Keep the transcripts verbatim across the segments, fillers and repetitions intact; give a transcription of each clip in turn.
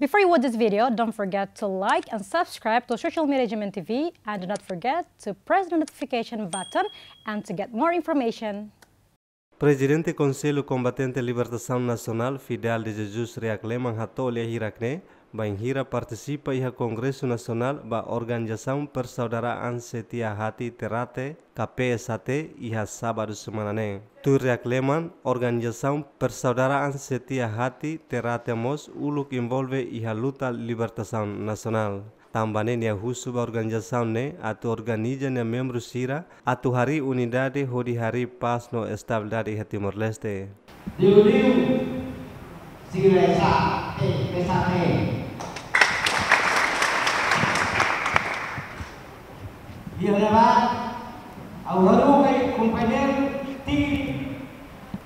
Before you watch this video, don't forget to like and subscribe to social media G M N T V, and do not forget to press the notification button and to get more information. Prezidente Konsellu Kombatente Libertasaun Nasionál, Fidel de Jesus Reakleman, hato'o lia hirak-ne'e bainhira partisipa iha Kongresu Nasionál ba Organizasaun Persaudaraan Setia Hati Terate, ka P S H T, iha sábadu semana ne'e. Tuir Reakleman, Organizasaun Persaudaraan Setia Hati Terate mós uluk envolve iha luta libertasaun nasionál. Tanba ne'e nia husu ba organizasaun ne'e atu organiza nia membru sira atu harii unidade hodi harii pás no estabilidade iha Timor-Leste. Liuliu sira S A T, S A T. Iha ne'ebá, ha'u haruka kompañeiru Tigre,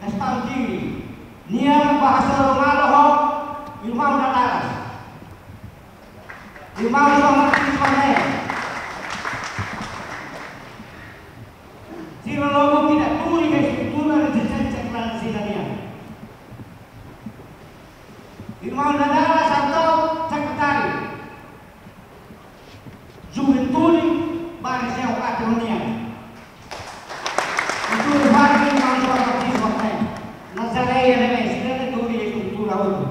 Gastão Tigre. Nia ba hasoru malu ho irmaun Dadaras. Irmaun João Martins Corneia. Sira logo kida tuur iha estrutura rezisténsia klandestina nian. Irmaun Dadaras atu sekretáriu Juventude ba rejiaun Kateronia. Estrutura ba irmaun João Martins Corneia. Nazaré iha ne'ebé, sira tuur iha estrutura hotu.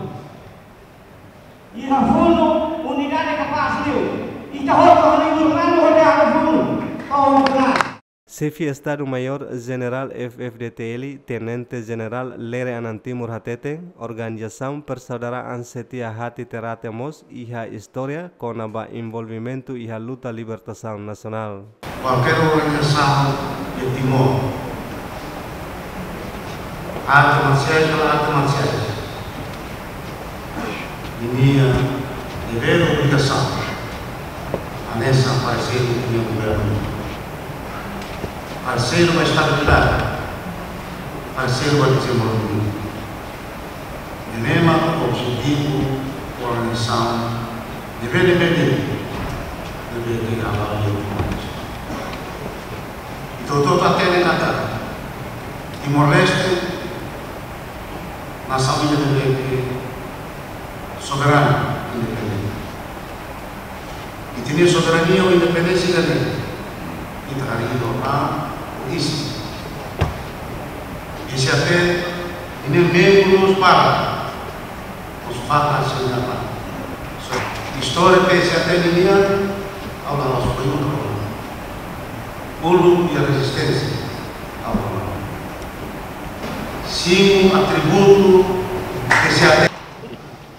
Iha funu unidade kapás liu. Ita hotu hodi irmaun hodi iha funu. To'o funu. Xefe Estadu-Maiór Jenerál F F D T L, Tenente Jenerál Lere Anan Timur hateten, Organizasaun Persaudaraan Setia Hati Terate mós iha istória kona-ba envolvimentu iha luta libertasaun nasionál. Kualkér organizasaun iha Timor, arte marsiais ka la arte marsiais, ninia devér obrigasaun hanesan parseiru iha governu, parseiru ba estabilidade, parseiru ba dezenvolvimentu. Ne'e mak objetivu organizasaun ne'ebé, ne'ebé, ne'ebé ke aban liu. Ita hotu hatene katak Timor-Leste nasaun ida ne'ebé ke soberanu, independente. Ita-nia soberania ho independénsia ida-ne'e ita harii ho an, ho isin. P S H T ninia membru mós para, mós fakar sira-nia an. So, istória P S H T nian, ha'u la loos, foi um problema. Uluk iha rezisténsia, ha'u la loos. Simu atributu P S H T.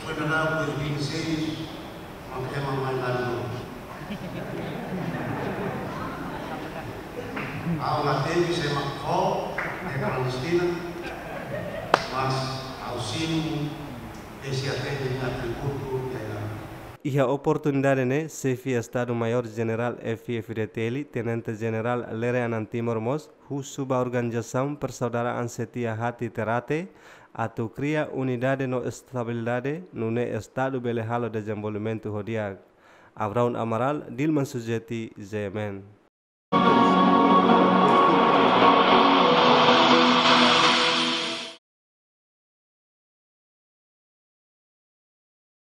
Foi na dois mil e seis, mak ema mai la dulu. Ha'u la temi se mak fó, ne'e klandestina, mas ha'u simu P S H T ninia atributu iha ne'ebá. Iha oportunidade ne'e, Xefe Estadu-Maiór Jenerál F F D T L, Tenente Jenerál Lere Anan Timur mós husu ba Organizasaun Persaudaraan Setia Hati Terate atu kria unidade no estabilidade, nune'e Estadu bele halo dezenvolvimentu ho di'ak. Abraão Amaral, Dilman Sujeti, G M N.